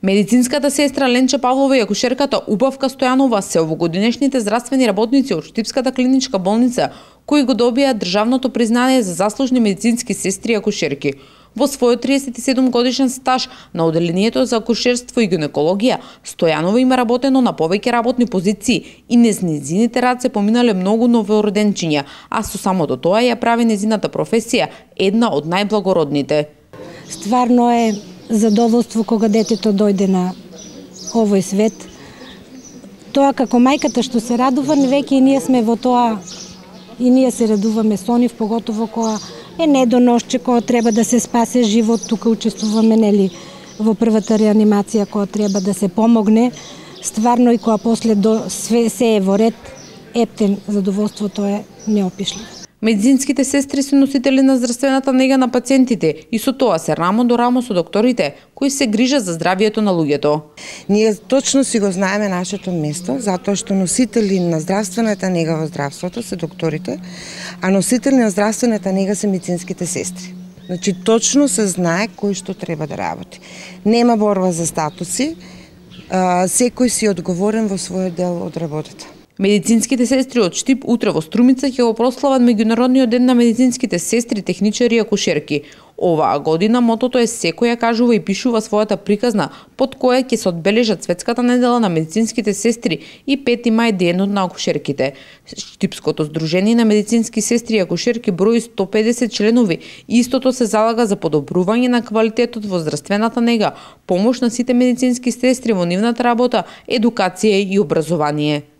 Медицинската сестра Ленче Павлова и акушерката Убавка Стојанова се овогодинешните здравствени работници од Штипската клиничка болница кои го добија државното признание за заслужни медицински сестри и акушерки. Во својот 37 годишен стаж на оделението за акушерство и гинекологија, Стојанова има работено на повеќе работни позиции и низ незините рад се поминале многу новороденчиња, а со самото тоа ја прави незината професија една од најблагородните. Стварно е задоволство кога детето дојде на овој свет. Тоа како мајката што се радува, веќе и ние сме во тоа, и ние се радуваме со нив, поготово кога е недоношче, кога треба да се спасе живот, тука учествуваме во првата реанимација, кога треба да се помогне. Стварно и кога после се е во ред, ептен задоволството е неопишливо. Медицинските сестри се носители на здравствената нега на пациентите и со тоа се рамо до рамо со докторите кои се грижат за здравието на луѓето. Ние точно си го знаеме нашето место, затоа што носители на здравствената нега во здравството се докторите, а носители на здравствената нега се медицинските сестри. Значи точно се знае кој што треба да работи. Нема борба за статуси, секој си одговорен во својот дел од работата. Медицинските сестри од Штип утре во Струмица ќе го прослават меѓународниот ден на медицинските сестри, техничари и акушерки. Оваа година мотото е секој ја кажува и пишува својата приказна, под која ќе се одбележат Светската недела на медицинските сестри и 5 мај денот на акушерките. Штипското здружение на медицински сестри и акушерки брои 150 членови и истото се залага за подобрување на квалитетот во здравствената нега, помош на сите медицински сестри во нивната работа, едукација и образование.